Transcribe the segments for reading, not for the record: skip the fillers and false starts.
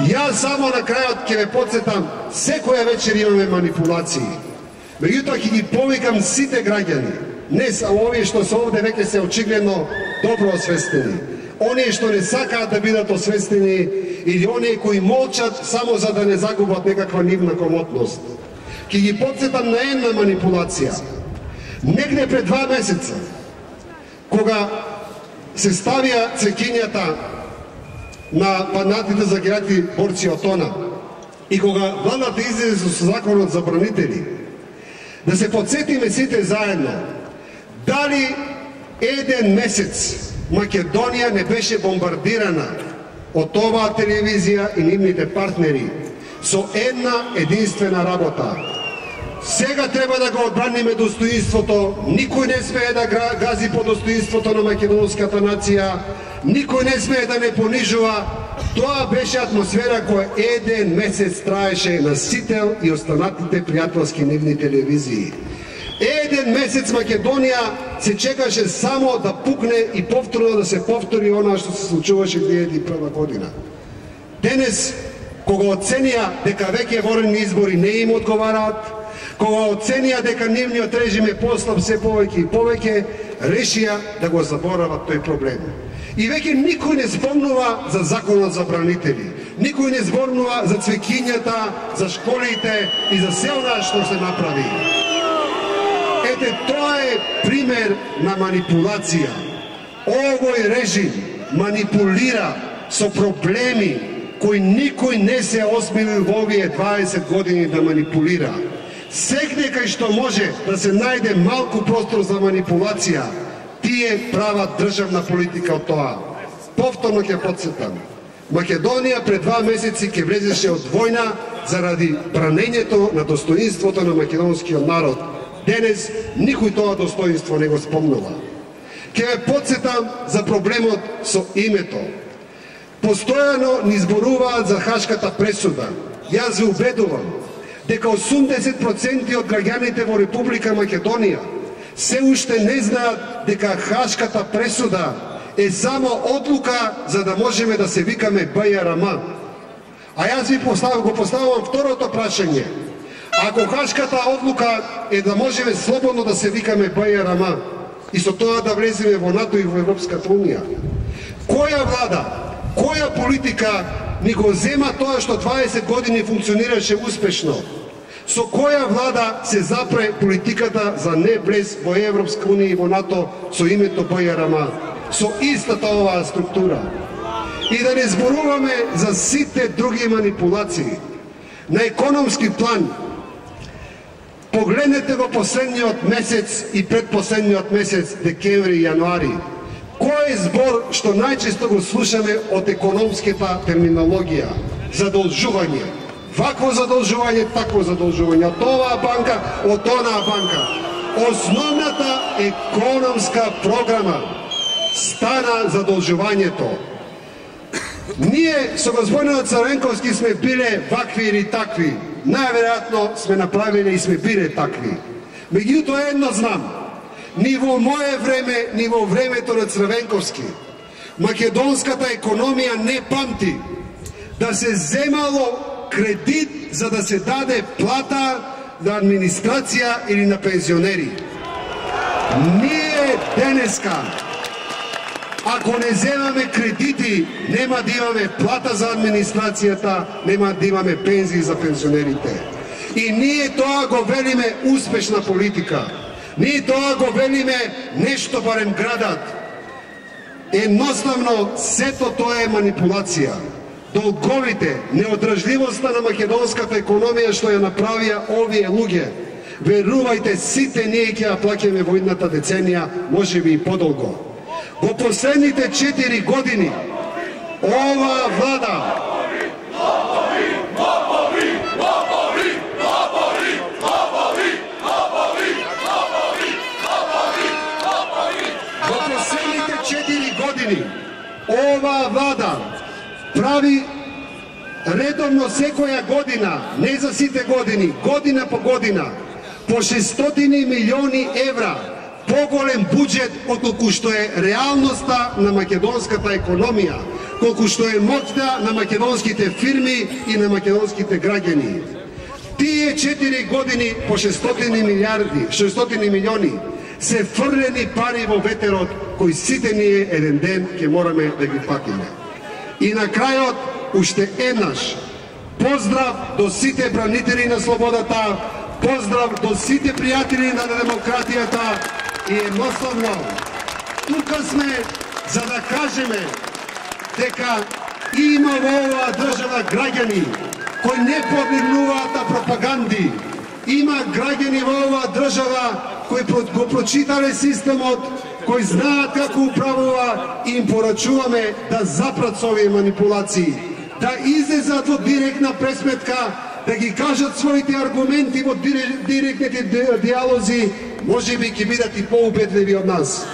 Јас само на крајот ќе ве потсетам, секоја вечер имаме манипулации. Меѓутоа ќе ги повикам сите граѓани, не само овие што се овде веќе се очигледно добро освестени, оние што не сакаат да бидат освестени или оние кои молчат само за да не загубат некаква нивна комотност. Ќе ги потсетам на една манипулација. Негде пред 2 месеца, кога се ставија цекињата на панатите за геати борци од ОНА и кога владата излезе со законот за бранители, да се подсетиме сите заедно, дали еден месец Македонија не беше бомбардирана од оваа телевизија и нивните партнери со една единствена работа. Сега треба да го одбраниме достоинството, никој не смее да гази по достоинството на македонската нација, никој не смее да не понижува. Тоа беше атмосфера која еден месец траеше на Сител и останатите пријателски нивни телевизии. Еден месец Македонија се чекаше само да пукне и повторно да се повтори она што се случуваше 2001 година. Денес, кога оценија дека веќе ворени избори не им одговараат, кога оценија дека нивниот режим е послаб се повеќе и повеќе, решија да го заборават тој проблем. И веќе никој не зборнува за законот за бранители, никој не зборнува за цвекињата, за школите и за се она што се направи. Ете, тоа е пример на манипулација. Овој режим манипулира со проблеми кои никој не се осмелил во овие 20 години да манипулира. Секне кај што може да се најде малку простор за манипулација, тие прават државна политика од тоа. Повторно ќе потсетам. Македонија пред 2 месеци ќе влезеше од војна заради бранењето на достоинството на македонскиот народ. Денес никој тоа достоинство не го спомнува. Ќе ве потсетам за проблемот со името. Постојано ни зборуваат за Хашката пресуда. Јас ве убедувам дека 80% од граѓаните во Република Македонија се уште не знаат дека Хашката пресуда е само одлука за да можеме да се викаме БЈРМ. А јас ви поставам второто прашање. Ако Хашката одлука е да можеме слободно да се викаме БЈРМ и со тоа да влеземе во НАТО и во Европската унија, која влада, која политика ни го зема тоа што 20 години функционираше успешно? Со која влада се запре политиката за не влез во Европска унија и во НАТО со името БЈРМ? Со истата оваа структура. И да не зборуваме за сите други манипулации. На економски план, погледнете во последниот месец и предпоследниот месец, декември и јануари, кој е збор што најчесто го слушаме од економската терминологија? Задолжување. Вакво задолжување, такво задолжување. Од оваа банка, од онаа банка. Основната економска програма стана задолжувањето. Ние со господинот Црвенковски сме биле вакви или такви. Најверојатно сме направиле и сме биле такви. Меѓутоа едно знам. Ни во моје време, ни во времето на Црвенковски, македонската економија не памти да се земало кредит за да се даде плата на администрација или на пензионери. Ние денеска, ако не земаме кредити, нема да имаме плата за администрацијата, нема да имаме пензии за пензионерите. И ние тоа го велиме успешна политика. Ние тоа го велиме нешто барем градат. Едноставно, сето тоа е манипулација. Долговите, неодржливоста на македонската економија што ја направија овие луѓе, верувајте, сите ние ќе ја плаќаме во идната деценија, можеби и подолго. Во последните 4 години, оваа влада оваа влада прави редовно секоја година, не за сите години, година по година, по 600 милиони евра поголем буџет отколку што е реалноста на македонската економија. колку што е моќта на македонските фирми и на македонските граѓани. Тие 4 години по 600 милиони се фрлени пари во ветерот, кои сите ние еден ден ќе мораме да ги платиме. И на крајот, уште еднаш, поздрав до сите бранители на слободата, поздрав до сите пријатели на демократијата и едноставно, тука сме за да кажеме дека има во оваа држава граѓани кои не подлегнуваат на пропаганди. Има граѓани во оваа држава кои го прочитале системот, кои знаат како управува и им порачуваме да запрат со овие манипулации, да излезат во директна пресметка, да ги кажат своите аргументи во директните диалози, можеби ќе бидат и поубедливи од нас.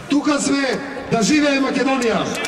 Тука сме, да живее Македонија!